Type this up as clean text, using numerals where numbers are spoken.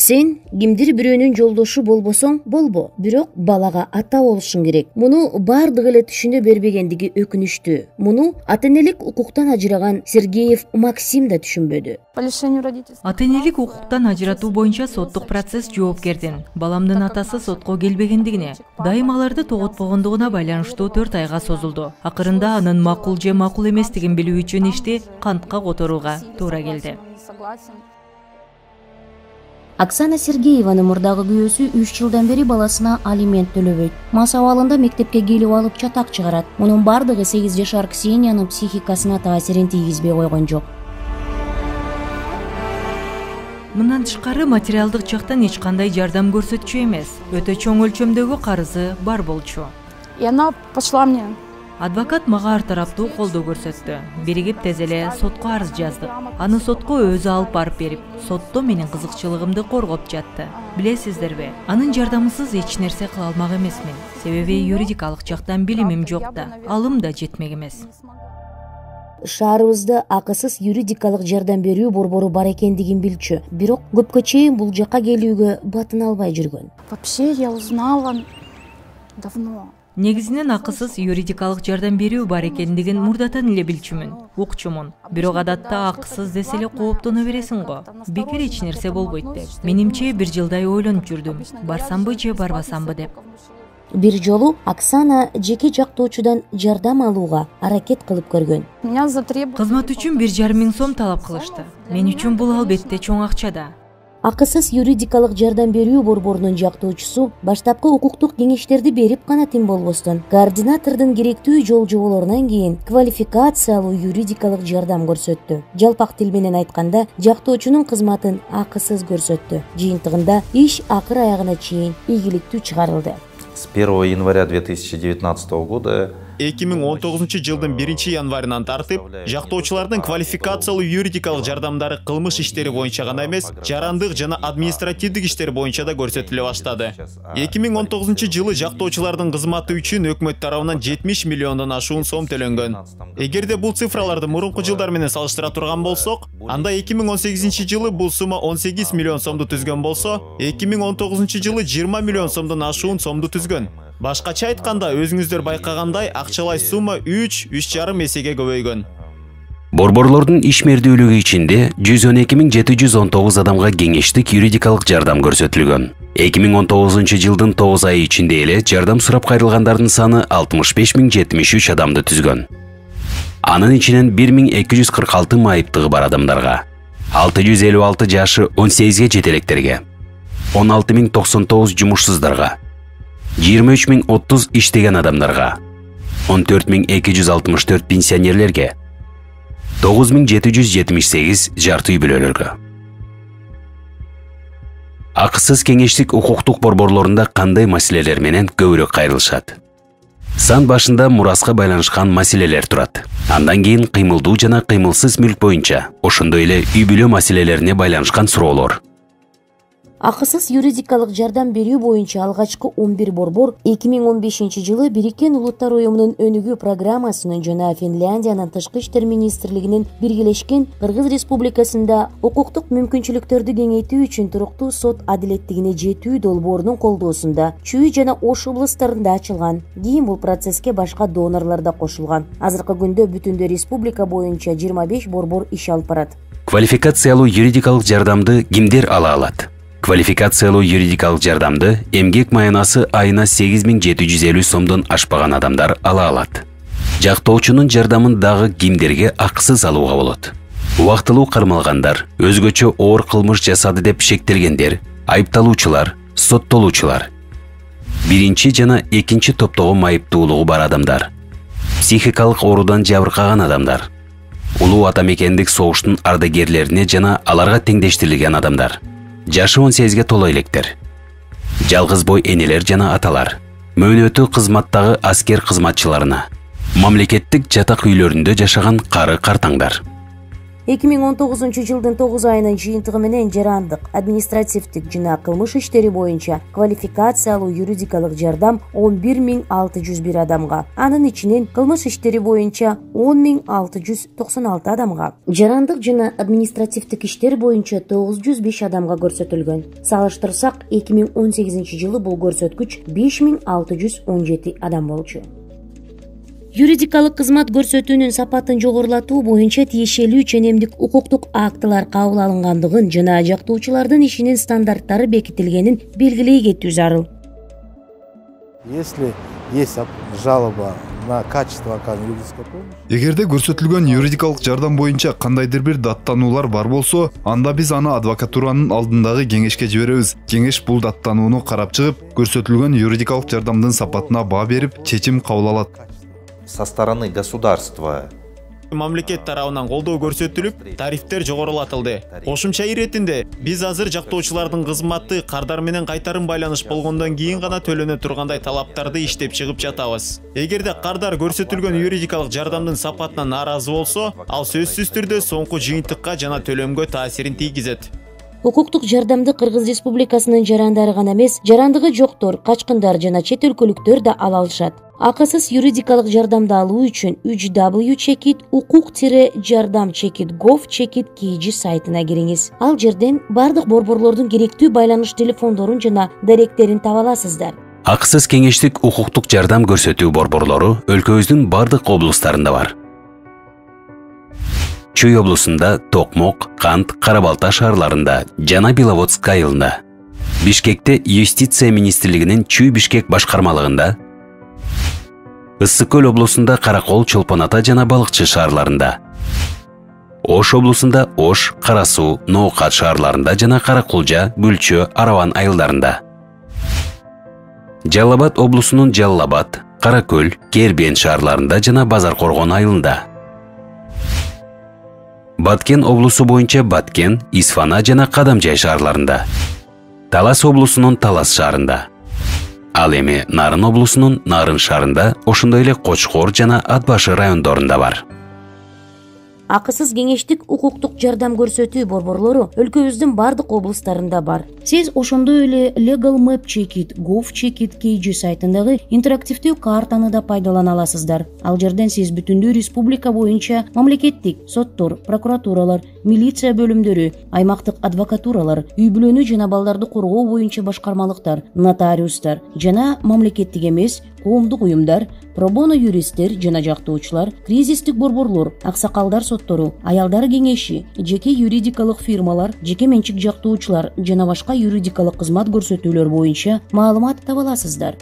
Сен кимдир бирөөнүн жолдошу болбосоң болбо, бирок балага ата болушуң керек. Муну бардыгы эле түшүнө бербегендиги өкүнүчтүү. Муну ата-энелик укуктан ажыраган Сергеев Максим да түшүнбөдү. Ата-энелик укуктан ажыратуу боюнча соттук процесс жоопкердин баламдын атасы сотко келбегендигине, дайым аларды тоготпогондугуна байланыштуу 4 айга созулду. Акырында анын макул же макул эместигин билүү үчүн ишти кантка которууга туура келди. Оксана Сергееванын мурдагы күйөөсү 3 жылдан бери баласына алимент төлөбөйт. Мас абалында мектепке келип алып чатак чыгарат. Мунун бардыгы 8 жашар Ксениянын психикасына таасирин тийгизбей койгон жок. Мындан тышкары материалдык жактан эч кандай жардам көрсөтчү эмес. Өтө чоң өлчөмдөгү карызы бар болчу. И она пошла мне. Адвокат мага ар тараптуу колдоо көрсөттү. Биригип тез эле сотко арыз жаздык. Аны сотко өзү алып барып берип, сотто менин кызыкчылыгымды коргоп жатты. Билесиздерби, анын жардамысыз эч нерсе кыла алмак эмесмин. Себеби юридикалык жактан билимим жок да, алым да жетмек эмес. Шаарыбызда акысыз юридикалык жардам берүү борбору бар экендигин билчү. Бирок көпкө чейин бул жакка келүүгө батын албай жүргөн. Вообще я узнала давно. Негизинен акысыз юридикалык жардам берүү бар экендигин мурдатан эле билчүмүн, укчумун. Бирок адатта акысыз десе эле кооптоно бересиң го. Бекер эч нерсе болбойт деп. Менимче 1 жылдай ойлонуп жүрдүм. Барсамбы же барбасамбы деп. Бир жолу Оксана жеке жактоочудан жардам алууга аракет кылып көргөн. Кызмат үчүн 1,5 миң сом талап кылышты. Мен үчүн бул албетте чоң акча да. Акысыз юридикалык жардам берүү борборунун жактоочусу баштапкы укуктук кеңештерди берип гана тим болбостон, координатордун керектүү жол жоболорунан кийин квалификациялуу юридикалык жардам көрсөттү. Жалпак тил менен айтканда, жактоочунун кызматын акысыз көрсөттү. Жыйынтыгында иш акыр аягына чейин ийгиликтүү чыгарылды. С 1 января 2019 года 2019 жылдын 1 январынан тартып, жактоочулардын квалификациялуу юридикалык жардамдары кылмыш иштери боюнча гана эмес, жарандык жана административдик иштер боюнча да көрсөтүлө баштады. 2019 жылы жактоочулардын кызматы үчүн өкмөт тарабынан 70 миллиондон ашуун сом төлөнгөн. Эгерде бул цифраларды мурунку жылдар менен салыштыра турган болсок, анда 2018 жылы бул сумма 18 миллион сомду түзгөн болсо, 2019 жылы 20 миллион сомдон ашуун сомду түзгөн. Башкача айтканда, өзүңүздөр байкагандай, акчалай сумма 3,5 эсеге көбөйгөн. Борборлордун ишмердүүлүгү ичинде 112.719 адамга кеңештик юридикалык жардам көрсөтүлгөн. 2019 жылдын 9 айы ичинде эле жардам сурап кайрылгандардын саны 65.073 адамды түзгөн. Анын ичинен 1.246 майыптыгы бар адамдарга, 656 жашы 18ге жетелектерге, 16.099 жумушсуздарга, 23.030 иштеген адамдарга, 14.264 пенсионерлерге, 9.778 жарты үй бүлөлөргө. Акысыз кеңештик укуктук борборлорунда кандай маселелер менен көбүрөөк кайрылышат? Сан башында мураска байланышкан маселелер турат. Андан кийин кыймылдуу жана кыймылсыз мүлк боюнча, ошондой эле үй бүлө маселелерине байланышкан суроолор. Акысыз юридикалык жардам берүү боюнча алгачкы 11 борбор 2015 жылы Бириккен Улуттар Уюмунун өнүгүү программасынын жана Финляндиянын тышкы иштер министрлигинин биргелешкен Кыргыз Республикасында укуктук мүмкүнчүлүктөрдү кеңейтүү үчүн туруктуу сот адилеттигине жетүү долбоорунун колдоосунда Чүй жана Ош областарында ачылган. Кийин бул процесске башка донорлор да кошулган. Азыркы күндө бүтүндө республика боюнча 25 борбор иш алып барат. Квалификациялуу юридикалык жардамды кимдер ала алат? Квалификациялуу юридикалык жардамды эмгек маянасы айына 8750 сомдон ашпаган адамдар ала алат. Жактоочунун жардамын дагы кимдерге акысыз алууга болот? Убактылуу кармалгандар, өзгөчө оор кылмыш жасады деп шектелгендер, айыпталуучулар, соттолуучулар. Биринчи жана экинчи топтогу майыптуулугу бар адамдар, психикалык оорудан жабыркаган адамдар, улуу атамекендик согуштун ардагерлерине жана аларга теңдештирилген адамдар, жашы 18ге толо электер, жалгыз бой энелер жана аталар, мөөнөтү кызматтагы аскер кызматчыларына, мамлекеттик жатак үйлөрүндө жашаган кары картаңдар. 2019 жылдын 9 айынын жыйынтыгы менен жарандык, административдик жана кылмыш иштери боюнча квалификациялуу юридикалык жардам 11.601 адамга, анын ичинен кылмыш иштери боюнча 10.696 адамга, жарандык жана административдик иштер боюнча 905 адамга көрсөтүлгөн. Салыштырсак, 2018 жылы бул көрсөткүч 5.617 адам болчу. Юридикалык кызмат көрсөтүүнүн сапатын жогорулатуу боюнча тиешелүү ченемдик укуктук актылар кабыл алынгандыгын жана жактоочулардын ишинин стандарттары бекитилгенин белгилей кетүү зарыл. Если есть жалоба на качество оказанной юридической помощи. Эгерде көрсөтүлгөн юридикалык жардам боюнча кандайдыр бир даттануулар бар болсо, анда биз аны адвокатуранын алдындагы кеңешке жиберебиз. Кеңеш бул даттанууну карап чыгып, көрсөтүлгөн юридикалык жардамдын сапатына баа берип, чечим кабыл алат. Со стороны государства мамлекет тарабынан колдоо көрсөтүлүп, тарифтер жогорулатылды. Кошумча иретинде биз азыр жактоочулардын кызматы кардар менен кайтарым байланыш болгондон кийин гана төлөнө тургандай талаптарды иштеп чыгып жатабыз. Эгерде кардар көрсөтүлгөн юридикалык жардамдын сапатына нааразы болсо, ал сөзсүз түрдө соңку жыйынтыкка жана төлөмгө таасирин тийгизет. Укуктук жардамды Кыргыз Республикасынын жарандары гана эмес, жарандыгы жоктор, качкындар жана чет өлкөлүктөр да ала алышат. Акысыз юридикалык жардамды алуу үчүн www.ukuk-jardam-gov.kg сайтына кириңиз. Ал жерден бардык борборлордун керектүү байланыш телефондорун жана даректерин таба аласыздар. Акысыз кеңештик укуктук жардам көрсөтүү борборлору өлкөбүздүн бардык облустарында бар. Чүй облусунда Токмок, Кант, Кара-Балта шаарларында жана Беловодск айылында. Бишкекте Юстиция министрлигинин Чүй-Бишкек башкармалыгында, Ысык-Көл облусунда Каракол, Чолпон Ата жана Балыкчы шаарларында. Ош облусунда Ош, Кара-Суу, Ноокат шаарларында жана Каракулжа, Бүлчө, Араван айылдарында. Жалал Абад облусунун Жалал Абад, Каракөл, Кербен шаарларында жана Базар-Коргон айылында. Баткен облусу боюнча Баткен, Исфана жана Кадамжай шаарларында. Талас облусунун Талас шаарында. Ал эми Нарын облусунун Нарын шаарында, ошондой эле Кочкор жана Атбашы райондорунда бар. Акысыз кеңештик укуктук жардам көрсөтүү борборлору өлкөбүздүн бардык облустарында бар. Сиз ошондой эле Legal Map Check-it gov.kg сайтындагы интерактивдүү картаны да пайдалана аласыздар. Ал жерден сиз бүтүндүү республика боюнча мамлекеттик соттор, прокуратуралар, милиция бөлүмдөрү, аймактык адвокатуралар, үй-бүлөнү жана балдарды коргоо боюнча башкармалыктар, нотариустар жана мамлекеттик эмес коомдук уюмдар, пробоно юристтер жана жактоочулар, кризистик борборлор, аксакалдар соттору, аялдар кеңеши, жеке юридикалык фирмалар, жеке менчик жактоочулар жана башка юридикалык кызмат көрсөтүүлөр боюнча маалымат таба аласыздар.